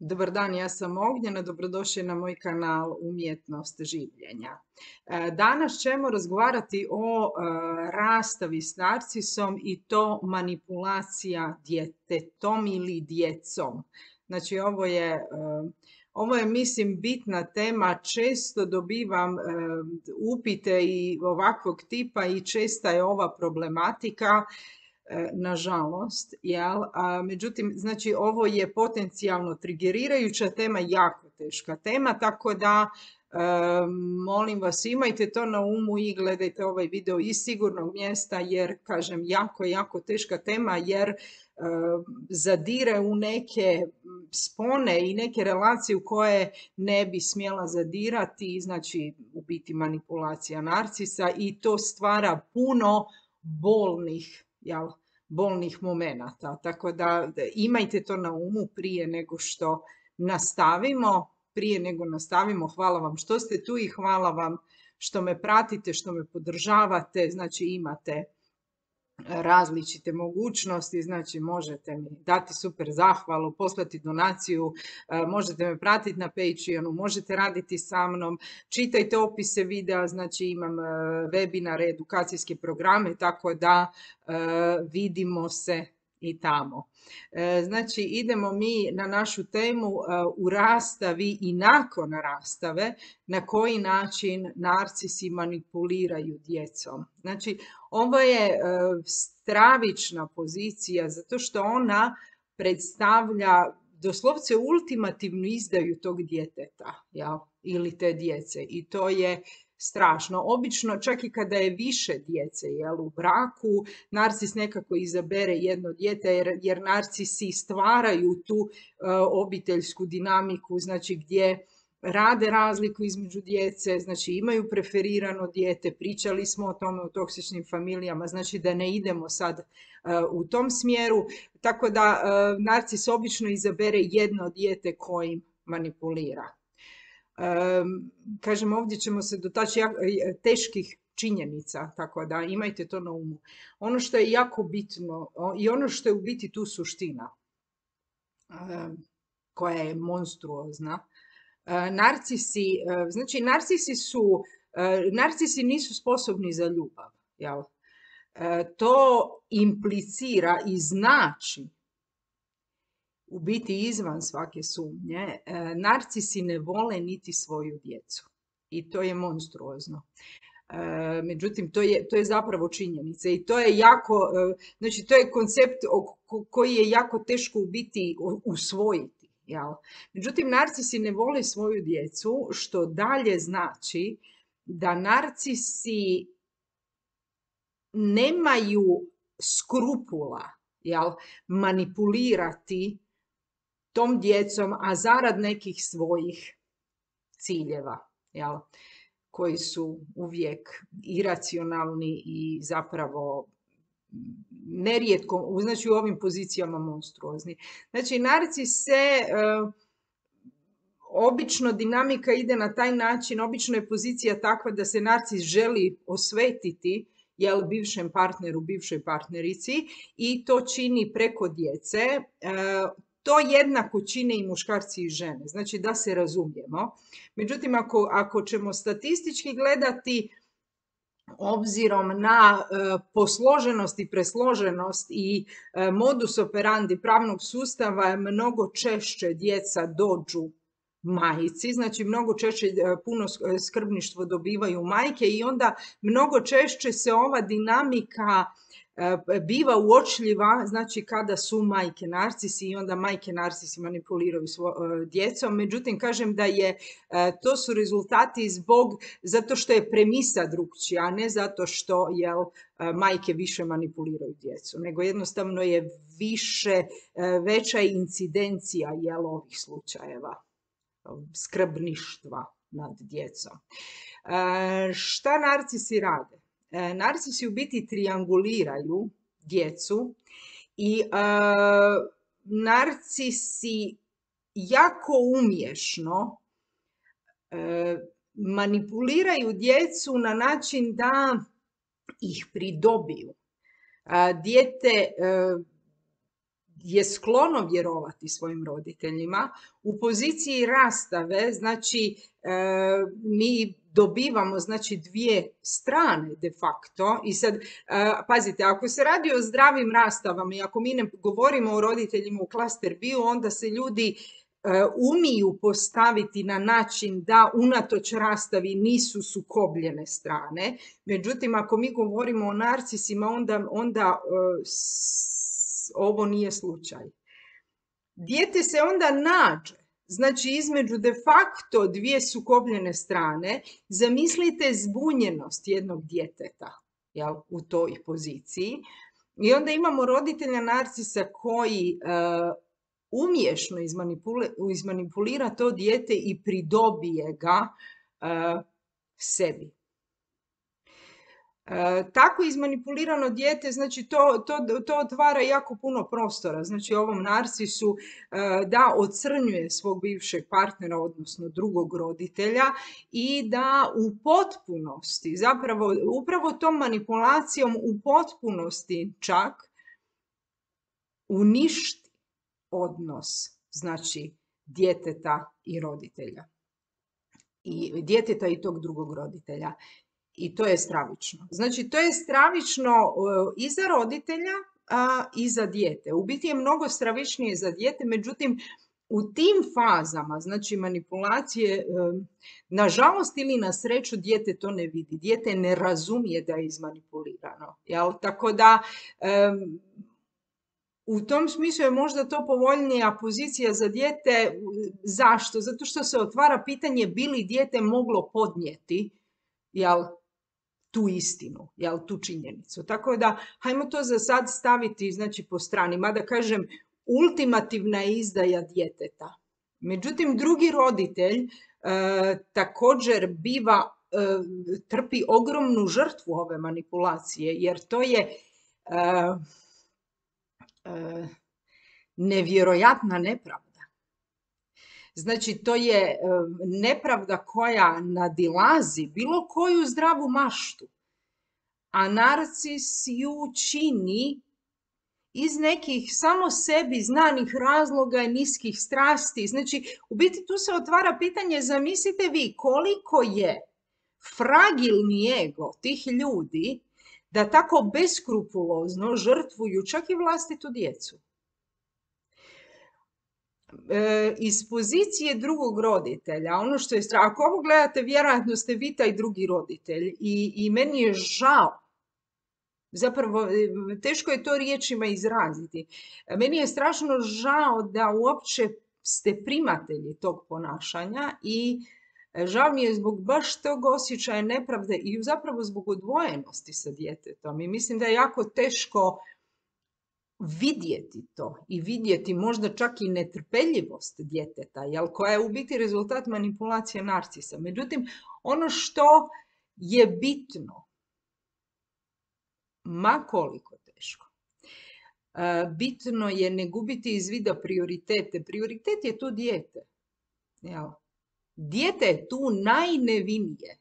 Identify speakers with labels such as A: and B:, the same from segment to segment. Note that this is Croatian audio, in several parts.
A: Dobar dan, ja sam Ognjena, dobrodošli na moj kanal Umjetnost življenja. Danas ćemo razgovarati o rastavi s narcisom i to manipulacija djetetom ili djecom. Znači ovo je mislim bitna tema, često dobivam upite i ovakvog tipa i česta je ova problematika. Nažalost, jel? Međutim, znači ovo je potencijalno trigerirajuća tema, jako teška tema, tako da molim vas imajte to na umu i gledajte ovaj video iz sigurnog mjesta jer, kažem, jako teška tema jer zadire u neke spone i neke relacije u koje ne bi smjela zadirati, znači u biti manipulacija narcisa i to stvara puno bolnih momenata. Tako da imajte to na umu prije nego što nastavimo. Hvala vam što ste tu i hvala vam što me pratite, što me podržavate. Znači imate različite mogućnosti, znači možete mi dati super zahvalu, poslati donaciju, možete me pratiti na Patreonu, možete raditi sa mnom, čitajte opise videa, znači imam webinare, edukacijske programe, tako da vidimo se i tamo. Znači idemo mi na našu temu u rastavi i nakon rastave, na koji način narcisi manipuliraju djecom. Znači ovo je stravična pozicija zato što ona predstavlja doslovce ultimativnu izdaju tog djeteta, jel? Ili te djece i to je strašno. Obično čak i kada je više djece, jel, u braku, narcis nekako izabere jedno dijete jer narcisi stvaraju tu obiteljsku dinamiku, znači gdje rade razliku između djece, znači imaju preferirano dijete, pričali smo o tome u toksičnim familijama, znači da ne idemo sad u tom smjeru, tako da narcis obično izabere jedno dijete kojim manipulira. Kažem, ovdje ćemo se dotaći teških činjenica, tako da imajte to na umu. Ono što je jako bitno i ono što je u biti tu suština, koja je monstruozna, narcisi nisu sposobni za ljubav, jel? To implicira i znači, u biti izvan svake sumnje, narcisi ne vole niti svoju djecu i to je monstruozno. Međutim, to je zapravo činjenica i to je znači to je koncept koji je jako teško u biti usvojiti. Jel? Međutim, narcisi ne vole svoju djecu, što dalje znači da narcisi nemaju skrupula, jel, manipulirati tom djecom, a zarad nekih svojih ciljeva, jel, koji su uvijek iracionalni i zapravo nerijetko, znači u ovim pozicijama monstruozni. Znači, narcis obično dinamika ide na taj način, obično je pozicija takva da se narcis želi osvetiti, jel, bivšem partneru, bivšoj partnerici i to čini preko djece. To jednako čine i muškarci i žene, znači da se razumijemo. Međutim, ako ćemo statistički gledati, obzirom na posloženost i presloženost i modus operandi pravnog sustava, mnogo češće djeca dođu majci, znači mnogo češće puno skrbništvo dobivaju majke i onda mnogo češće se ova dinamika biva uočljiva, znači kada su majke narcisi i onda majke narcisi manipuliraju djecom. Međutim, kažem da to su rezultati zato što je premisa drukčija, a ne zato što majke više manipuliraju djecu, nego jednostavno je veća incidencija ovih slučajeva skrbništva nad djecom. Šta narcisi rade? Narcisi u biti trianguliraju djecu i narcisi jako umješno manipuliraju djecu na način da ih pridobiju. je sklono vjerovati svojim roditeljima. U poziciji rastave, znači mi dobivamo znači dvije strane de facto i sad pazite, ako se radi o zdravim rastavama i ako mi ne govorimo o roditeljima u klaster bio, onda se ljudi umiju postaviti na način da unatoč rastavi nisu sukobljene strane. Međutim, ako mi govorimo o narcisima, onda ovo nije slučaj. Dijete se onda nađe, znači između de facto dvije sukobljene strane. Zamislite zbunjenost jednog djeteta, jel, u toj poziciji. I onda imamo roditelja narcisa koji umješno izmanipulira to dijete i pridobije ga sebi. Tako izmanipulirano dijete, znači to otvara jako puno prostora, znači ovom narcisu da ocrnjuje svog bivšeg partnera, odnosno drugog roditelja i da u potpunosti, zapravo upravo tom manipulacijom u potpunosti čak uništi odnos, znači djeteta i roditelja. I djeteta i tog drugog roditelja. I to je stravično. Znači, to je stravično i za roditelja i za dijete. U biti je mnogo stravičnije za dijete, međutim, u tim fazama, znači manipulacije, nažalost ili na sreću, dijete to ne vidi. Dijete ne razumije da je izmanipulirano. Jel? Tako da, u tom smislu je možda to povoljnija pozicija za dijete. Zašto? Zato što se otvara pitanje bi li dijete moglo podnijeti, jel, tu istinu, jel, tu činjenicu. Tako da, hajmo to za sad staviti, znači, po strani. Mada kažem, ultimativna je izdaja djeteta. Međutim, drugi roditelj također trpi ogromnu žrtvu ove manipulacije, jer to je nevjerojatna nepravda. Znači, to je nepravda koja nadilazi bilo koju zdravu maštu, a narcis ju čini iz nekih samo sebi znanih razloga i niskih strasti. Znači, u biti tu se otvara pitanje, zamislite vi koliko je fragilni ego tih ljudi da tako beskrupulozno žrtvuju čak i vlastitu djecu. Iz pozicije drugog roditelja, ono što je strašno, ako ovo gledate, vjerojatno ste vi taj drugi roditelj i meni je žao, zapravo teško je to riječima izraziti, meni je strašno žao da uopće ste primatelji tog ponašanja i žao mi je zbog baš tog osjećaja nepravde i zapravo zbog odvojenosti sa djetetom. I mislim da je jako teško vidjeti to i vidjeti možda čak i netrpeljivost djeteta, jel, koja je u biti rezultat manipulacije narcisa. Međutim, ono što je bitno, ma koliko teško, bitno je ne gubiti iz vida prioritete. Prioritet je tu dijete. Jel? Dijete je tu najnevinije.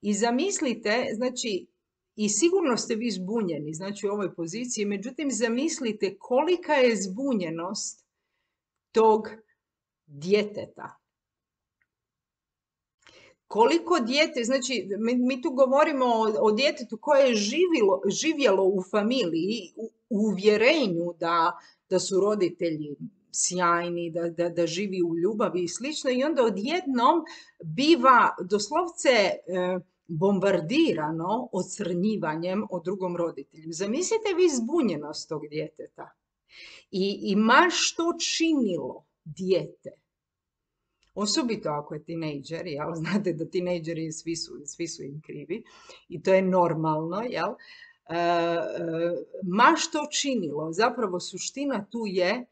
A: I zamislite, znači, i sigurno ste vi zbunjeni, znači u ovoj poziciji, međutim zamislite kolika je zbunjenost tog djeteta. Koliko dijete, znači mi tu govorimo o djetetu koje je živjelo u familiji, u uvjerenju da su roditelji sjajni, da živi u ljubavi i slično, i onda odjednom biva doslovce bombardirano ocrnjivanjem o drugom roditelju. Zamislite vi zbunjenost tog djeteta i ma što činilo dijete, osobito ako je tinejdžer, jel? Znate da tinejdžeri svi su im krivi i to je normalno, jel? Ma što činilo, zapravo suština tu je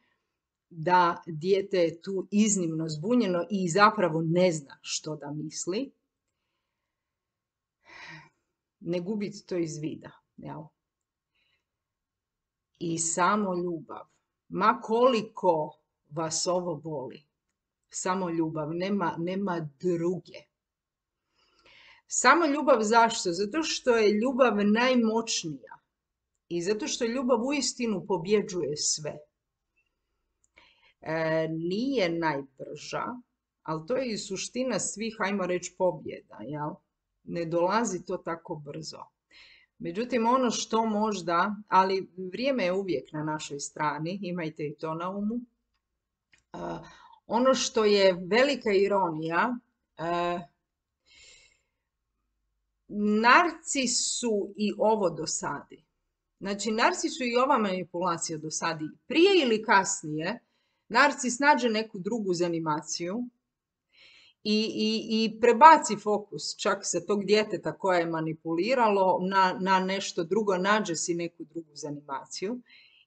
A: da dijete je tu iznimno zbunjeno i zapravo ne zna što da misli. Ne gubiti to iz vida. Jel? I samo ljubav. Ma koliko vas ovo boli. Samo ljubav. Nema druge. Samo ljubav zašto? Zato što je ljubav najmoćnija. I zato što ljubav uistinu pobjeđuje sve. nije najbrža, ali to je i suština svih, ajmo reći, pobjeda, jel? Ne dolazi to tako brzo. Međutim, ono što možda, ali vrijeme je uvijek na našoj strani, imajte i to na umu. Ono što je velika ironija, narcisu i ovo dosadi. Znači, narcisu i ova manipulacija dosadi. Prije ili kasnije, narcis nađe neku drugu zanimaciju i prebaci fokus čak sa tog djeteta koje je manipuliralo na nešto drugo, nađe si neku drugu zanimaciju.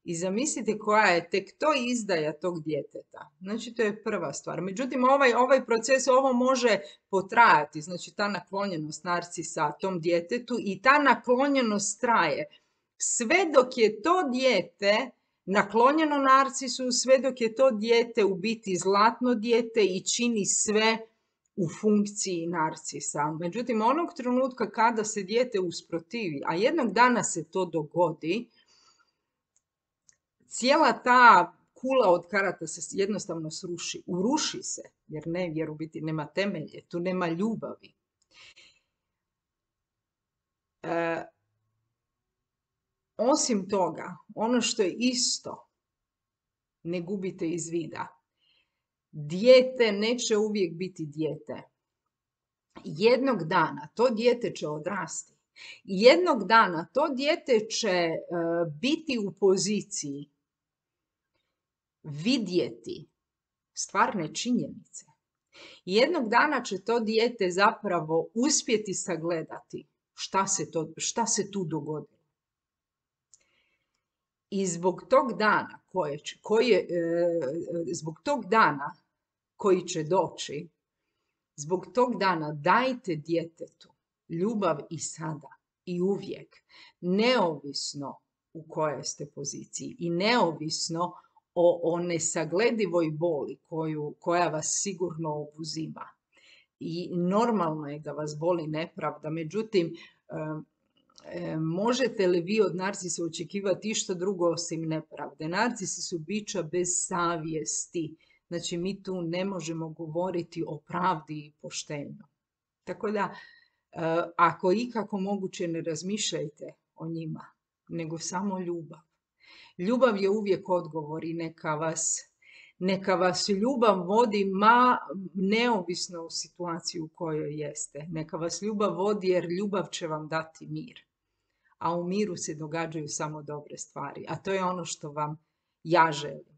A: I zamislite koja je tek to izdaja tog djeteta. Znači, to je prva stvar. Međutim, ovaj proces, ovo može potrajati. Znači, ta naklonjenost narcisa tom djetetu i ta naklonjenost traje. Sve dok je to dijete naklonjeno narcisu, sve dok je to dijete u biti zlatno dijete i čini sve u funkciji narcisa. Međutim, onog trenutka kada se dijete usprotivi, a jednog dana se to dogodi, cijela ta kula od karata se jednostavno sruši. Uruši se, jer u biti nema temelje, tu nema ljubavi. Osim toga, ono što je isto, ne gubite iz vida. Dijete neće uvijek biti dijete. Jednog dana to dijete će odrasti. Jednog dana to dijete će biti u poziciji vidjeti stvarne činjenice. Jednog dana će to dijete zapravo uspjeti sagledati šta se tu dogodilo. I zbog tog dana koji će doći, zbog tog dana dajte djetetu ljubav i sada i uvijek, neovisno u kojoj ste poziciji i neovisno o nesagledivoj boli koja vas sigurno obuzima. I normalno je da vas boli nepravda, međutim, možete li vi od narcisa očekivati išta drugo osim nepravde? Narcisi su bića bez savjesti. Znači, mi tu ne možemo govoriti o pravdi i poštenju. Tako da, ako ikako moguće, ne razmišljajte o njima, nego samo ljubav. Ljubav je uvijek odgovor i neka vas ljubav vodi neovisno u situaciju u kojoj jeste. Neka vas ljubav vodi jer ljubav će vam dati mir. A u miru se događaju samo dobre stvari. A to je ono što vam ja želim.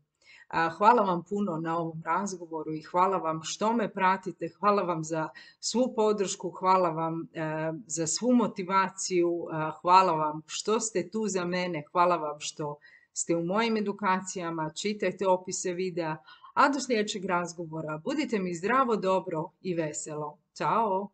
A: Hvala vam puno na ovom razgovoru i hvala vam što me pratite. Hvala vam za svu podršku, hvala vam za svu motivaciju, hvala vam što ste tu za mene, hvala vam što ste u mojim edukacijama, čitajte opise videa, a do sljedećeg razgovora budite mi zdravo, dobro i veselo. Ćao!